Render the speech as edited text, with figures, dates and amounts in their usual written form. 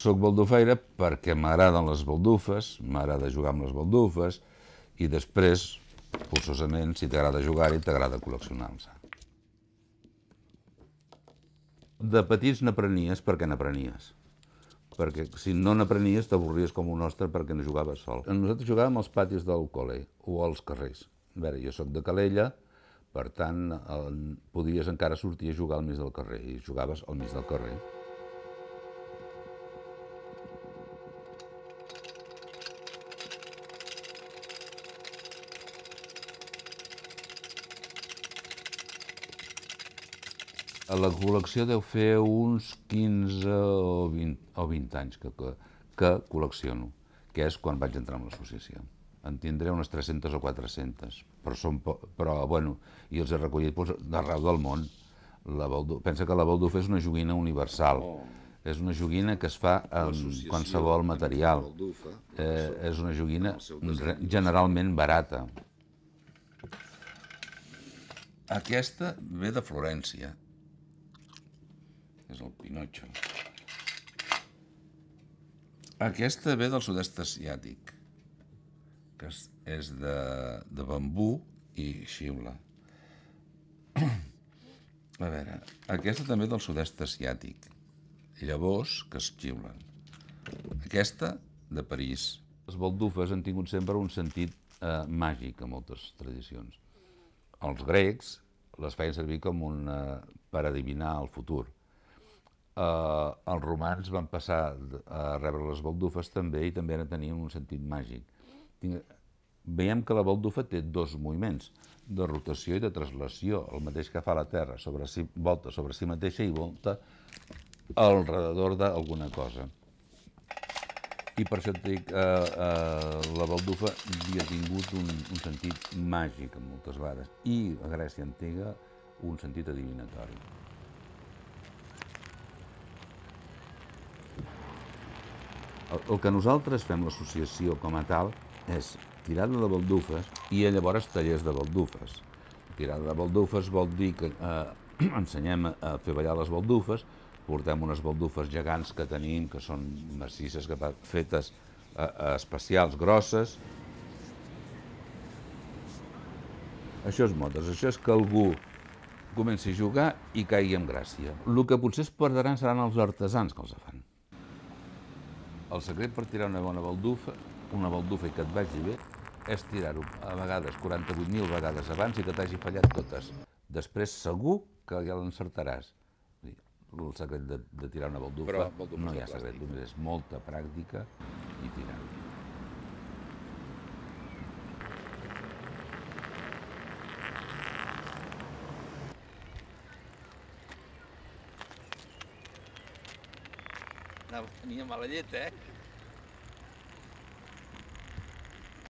Soc baldufeire perquè m'agraden les baldufes, m'agrada jugar amb les baldufes i després, forçosament, si t'agrada jugar-hi, t'agrada col·leccionar-los. De petits n'aprenies perquè n'aprenies. Perquè si no n'aprenies t'avorries com un ostre perquè no jugaves sol. Nosaltres jugàvem als patis del col·le o als carrers. A veure, jo sóc de Calella, per tant, podies encara sortir a jugar al mig del carrer i jugaves al mig del carrer. La col·lecció deu fer uns 15 o 20 anys que col·lecciono, que és quan vaig entrar en l'associació. En tindré unes 300 o 400, però bueno, i els he recollit d'arreu del món. Pensa que la baldufa és una joguina universal. És una joguina que es fa amb qualsevol material. És una joguina generalment barata. Aquesta ve de Florència. És el Pinotxo. Aquesta ve del sud-est asiàtic, que és de bambú i xiula. A veure, aquesta també del sud-est asiàtic, llavors que es xiulen. Aquesta, de París. Les baldufes han tingut sempre un sentit màgic a moltes tradicions. Els grecs les feien servir com per adivinar el futur. Els romans van passar a rebre les baldufes també i també tenien un sentit màgic. Veiem que la baldufa té dos moviments, de rotació i de translació, el mateix que fa la Terra, volta sobre si mateixa i volta al redador d'alguna cosa. I per això et dic, la baldufa havia tingut un sentit màgic en moltes vegades i a Grècia antiga un sentit adivinatori. El que nosaltres fem, l'associació com a tal, és tirada de baldufes i llavors tallers de baldufes. Tirada de baldufes vol dir que ensenyem a fer ballar les baldufes, portem unes baldufes gegants que tenim, que són massisses, fetes especials, grosses. Això és modes, això és que algú comenci a jugar i caigui en gràcia. El que potser es perdran seran els artesans que els fan. El secret per tirar una bona baldufa, i que et vagi bé, és tirar-ho a vegades 48.000 vegades abans i que t'hagi fallat totes. Després segur que ja l'encertaràs. El secret de tirar una baldufa no hi ha secret, només és molta pràctica i tirar-ho. Tenia mala llet, eh?